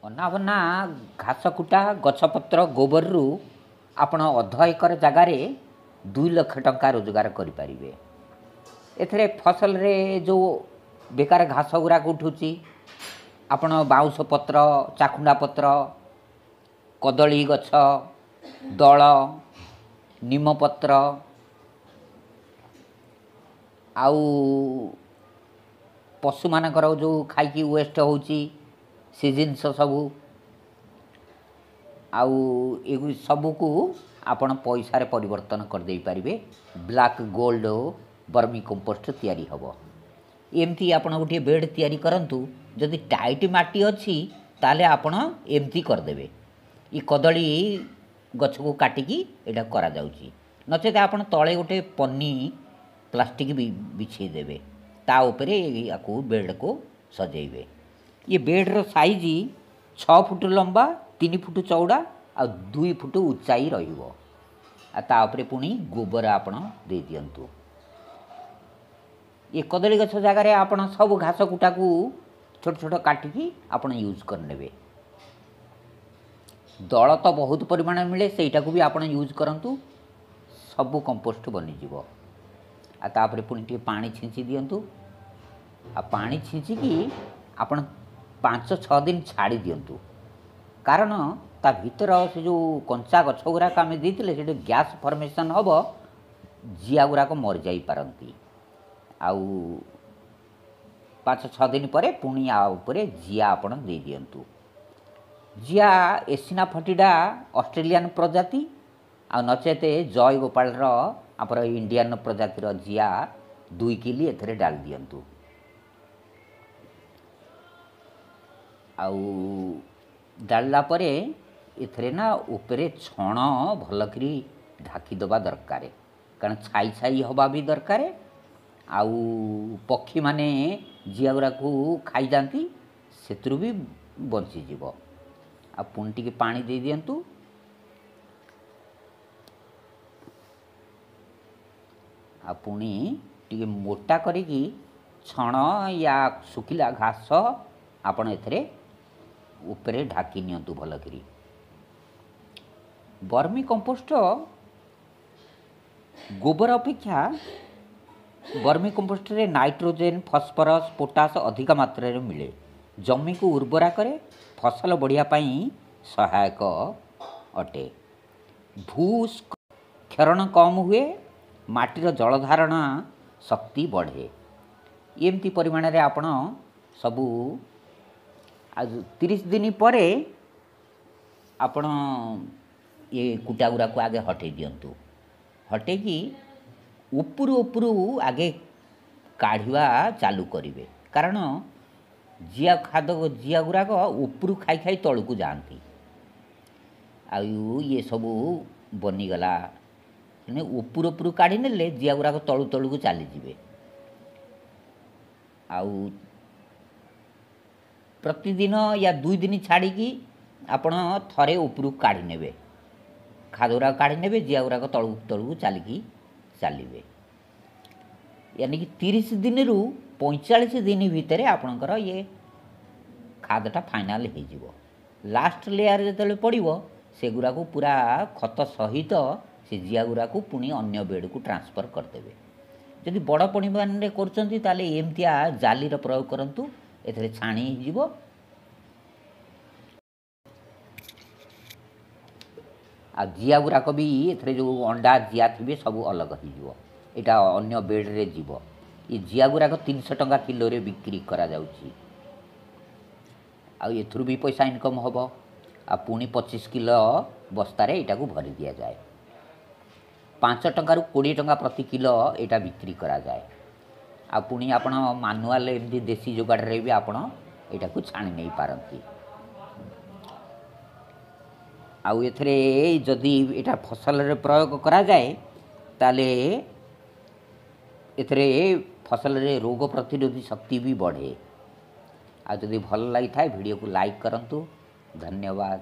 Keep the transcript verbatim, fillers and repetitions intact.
ଅନାବନା ଘାସ କୁଟା, ଗଛପତ୍ର, ଗୋବରରୁ ଆପଣ ଅଧ ଏକର ଜାଗାରେ ଦୁଇ ଲକ୍ଷ ଟଙ୍କା ରୋଜଗାର କରିପାରିବେ। ଏଥିରେ ଫସଲରେ ଯେଉଁ ବେକାର ଘାସ ଗୁଡ଼ାକ ଉଠୁଛି, ଆପଣ ବାଉଁଶ ପତ୍ର, ଚାଖୁଣ୍ଡା ପତ୍ର, କଦଳୀ ଗଛ ଦଳ, ନିମପତ୍ର ଆଉ ପଶୁମାନଙ୍କର ଯେଉଁ ଖାଇକି ୱେଷ୍ଟ ହେଉଛି ସେ ଜିନିଷ ସବୁ, ଆଉ ଏଗୁ ସବୁକୁ ଆପଣ ପଇସାରେ ପରିବର୍ତ୍ତନ କରିଦେଇପାରିବେ। ବ୍ଲାକ୍ ଗୋଲ୍ଡ ବର୍ମି କମ୍ପୋଷ୍ଟ ତିଆରି ହେବ। ଏମିତି ଆପଣ ଗୋଟିଏ ବେଡ଼୍ ତିଆରି କରନ୍ତୁ। ଯଦି ଟାଇଟ୍ ମାଟି ଅଛି ତାହେଲେ ଆପଣ ଏମିତି କରିଦେବେ। ଏ କଦଳୀ ଗଛକୁ କାଟିକି ଏଇଟା କରାଯାଉଛି। ନଚେତ ଆପଣ ତଳେ ଗୋଟେ ପନ୍ନି ପ୍ଲାଷ୍ଟିକ୍ ବି ବିଛେଇ ଦେବେ, ତା ଉପରେ ୟାକୁ ବେଡ଼୍କୁ ସଜେଇବେ। ଇଏ ବେଡ଼୍ର ସାଇଜ୍ ଛଅ ଫୁଟ ଲମ୍ବା, ତିନି ଫୁଟ ଚଉଡ଼ା ଆଉ ଦୁଇ ଫୁଟ ଉଚାଇ ରହିବ। ଆଉ ତା ଉପରେ ପୁଣି ଗୋବର ଆପଣ ଦେଇଦିଅନ୍ତୁ। ଏ କଦଳୀ ଗଛ ଜାଗାରେ ଆପଣ ସବୁ ଘାସ କୁଟାକୁ ଛୋଟ ଛୋଟ କାଟିକି ଆପଣ ୟୁଜ୍ କରିନେବେ। ଦଳ ତ ବହୁତ ପରିମାଣରେ ମିଳେ, ସେଇଟାକୁ ବି ଆପଣ ୟୁଜ୍ କରନ୍ତୁ, ସବୁ କମ୍ପୋଷ୍ଟ ବନିଯିବ। ଆଉ ତାପରେ ପୁଣି ଟିକେ ପାଣି ଛିଞ୍ଚି ଦିଅନ୍ତୁ। ଆଉ ପାଣି ଛିଞ୍ଚିକି ଆପଣ ପାଞ୍ଚ ଛଅ ଦିନ ଛାଡ଼ି ଦିଅନ୍ତୁ, କାରଣ ତା ଭିତର ସେ ଯେଉଁ କଞ୍ଚା ଗଛ ଗୁଡ଼ାକ ଆମେ ଦେଇଥିଲେ ସେଠି ଗ୍ୟାସ୍ ଫର୍ମେସନ୍ ହେବ, ଜିଆ ଗୁଡ଼ାକ ମରିଯାଇପାରନ୍ତି। ଆଉ ପାଞ୍ଚ ଛଅ ଦିନ ପରେ ପୁଣି ଆ ଉପରେ ଜିଆ ଆପଣ ଦେଇଦିଅନ୍ତୁ। ଜିଆ ଏସିନା ଫଟିଡ଼ା ଅଷ୍ଟ୍ରେଲିଆନ୍ ପ୍ରଜାତି, ଆଉ ନଚେତ ଜୟ ଗୋପାଳର ଆମର ଇଣ୍ଡିଆନ୍ ପ୍ରଜାତିର ଜିଆ ଦୁଇ କିଲି ଏଥିରେ ଡାଲି ଦିଅନ୍ତୁ। ଆଉ ଡାଳିଲା ପରେ ଏଥିରେ ନା ଉପରେ ଛଣ ଭଲକରି ଢାଙ୍କି ଦେବା ଦରକାର, କାରଣ ଛାଇ ଛାଇ ହେବା ବି ଦରକାର। ଆଉ ପକ୍ଷୀମାନେ ଜିଆ ଗୁଡ଼ାକୁ ଖାଇଯାଆନ୍ତି, ସେଥିରୁ ବି ବଞ୍ଚିଯିବ। ଆଉ ପୁଣି ଟିକେ ପାଣି ଦେଇଦିଅନ୍ତୁ। ଆଉ ପୁଣି ଟିକେ ମୋଟା କରିକି ଛଣ ୟା ଶୁଖିଲା ଘାସ ଆପଣ ଏଥିରେ ଉପରେ ଢାଙ୍କି ନିଅନ୍ତୁ ଭଲକରି। ବର୍ମି କମ୍ପୋଷ୍ଟ ଗୋବର ଅପେକ୍ଷା ବର୍ମି କମ୍ପୋଷ୍ଟରେ ନାଇଟ୍ରୋଜେନ୍, ଫସ୍ଫରସ୍, ପୋଟାସ୍ ଅଧିକ ମାତ୍ରାରେ ମିଳେ। ଜମିକୁ ଉର୍ବରା କରେ, ଫସଲ ବଢ଼ିବା ପାଇଁ ସହାୟକ ଅଟେ। ଭୂ କ୍ଷରଣ କମ୍ ହୁଏ, ମାଟିର ଜଳଧାରଣ ଶକ୍ତି ବଢ଼େ। ଏମିତି ପରିମାଣରେ ଆପଣ ସବୁ ଆଉ ତିରିଶ ଦିନ ପରେ ଆପଣ ଏ କୁଟା ଗୁଡ଼ାକୁ ଆଗେ ହଟେଇ ଦିଅନ୍ତୁ। ହଟେଇକି ଉପରୁ ଉପରୁ ଆଗେ କାଢ଼ିବା ଚାଲୁ କରିବେ, କାରଣ ଜିଆ ଖାଦ ଜିଆ ଗୁଡ଼ାକ ଉପରୁ ଖାଇ ଖାଇ ତଳକୁ ଯାଆନ୍ତି। ଆଉ ଇଏ ସବୁ ବନିଗଲା, ମାନେ ଉପରୁ ଉପରୁ କାଢ଼ି ନେଲେ ଜିଆ ଗୁଡ଼ାକ ତଳୁ ତଳକୁ ଚାଲିଯିବେ। ଆଉ ପ୍ରତିଦିନ ୟା ଦୁଇ ଦିନ ଛାଡ଼ିକି ଆପଣ ଥରେ ଉପରକୁ କାଢ଼ି ନେବେ, ଖାଦ ଗୁଡ଼ାକ କାଢ଼ି ନେବେ, ଜିଆ ଗୁଡ଼ାକ ତଳକୁ ତଳକୁ ଚାଲିକି ଚାଲିବେ। ୟାନି କି ତିରିଶ ଦିନରୁ ପଇଁଚାଳିଶ ଦିନ ଭିତରେ ଆପଣଙ୍କର ଇଏ ଖାଦଟା ଫାଇନାଲ୍ ହେଇଯିବ। ଲାଷ୍ଟ ଲେୟାର ଯେତେବେଳେ ପଡ଼ିବ, ସେଗୁଡ଼ାକୁ ପୁରା ଖତ ସହିତ ସେ ଜିଆ ଗୁଡ଼ାକୁ ପୁଣି ଅନ୍ୟ ବେଡ଼କୁ ଟ୍ରାନ୍ସଫର୍ କରିଦେବେ। ଯଦି ବଡ଼ ପରିମାଣରେ କରୁଛନ୍ତି ତାହେଲେ ଏମିତିଆ ଜାଲିର ପ୍ରୟୋଗ କରନ୍ତୁ, ଏଥିରେ ଛାଣି ହେଇଯିବ। ଆଉ ଜିଆ ଗୁଡ଼ାକ ବି ଏଥିରେ ଯେଉଁ ଅଣ୍ଡା ଜିଆ ଥିବେ ସବୁ ଅଲଗା ହେଇଯିବ, ଏଇଟା ଅନ୍ୟ ବେଡ଼ରେ ଯିବ। ଏ ଜିଆ ଗୁଡ଼ାକ ତିନିଶହ ଟଙ୍କା କିଲୋରେ ବିକ୍ରି କରାଯାଉଛି, ଆଉ ଏଥିରୁ ବି ପଇସା ଇନକମ୍ ହେବ। ଆଉ ପୁଣି ପଚିଶ କିଲୋ ବସ୍ତାରେ ଏଇଟାକୁ ଭରି ଦିଆଯାଏ। ପାଞ୍ଚ ଟଙ୍କାରୁ କୋଡ଼ିଏ ଟଙ୍କା ପ୍ରତି କିଲୋ ଏଇଟା ବିକ୍ରି କରାଯାଏ। ଆଉ ପୁଣି ଆପଣ ମାନୁଆଲ ଏମିତି ଦେଶୀ ଯୋଗାଡ଼ରେ ବି ଆପଣ ଏଇଟାକୁ ଛାଣି ନେଇପାରନ୍ତି। ଆଉ ଏଥିରେ ଯଦି ଏଇଟା ଫସଲରେ ପ୍ରୟୋଗ କରାଯାଏ ତାହେଲେ ଏଥିରେ ଫସଲରେ ରୋଗ ପ୍ରତିରୋଧୀ ଶକ୍ତି ବି ବଢ଼େ। ଆଉ ଯଦି ଭଲ ଲାଗିଥାଏ ଭିଡ଼ିଓକୁ ଲାଇକ୍ କରନ୍ତୁ। ଧନ୍ୟବାଦ।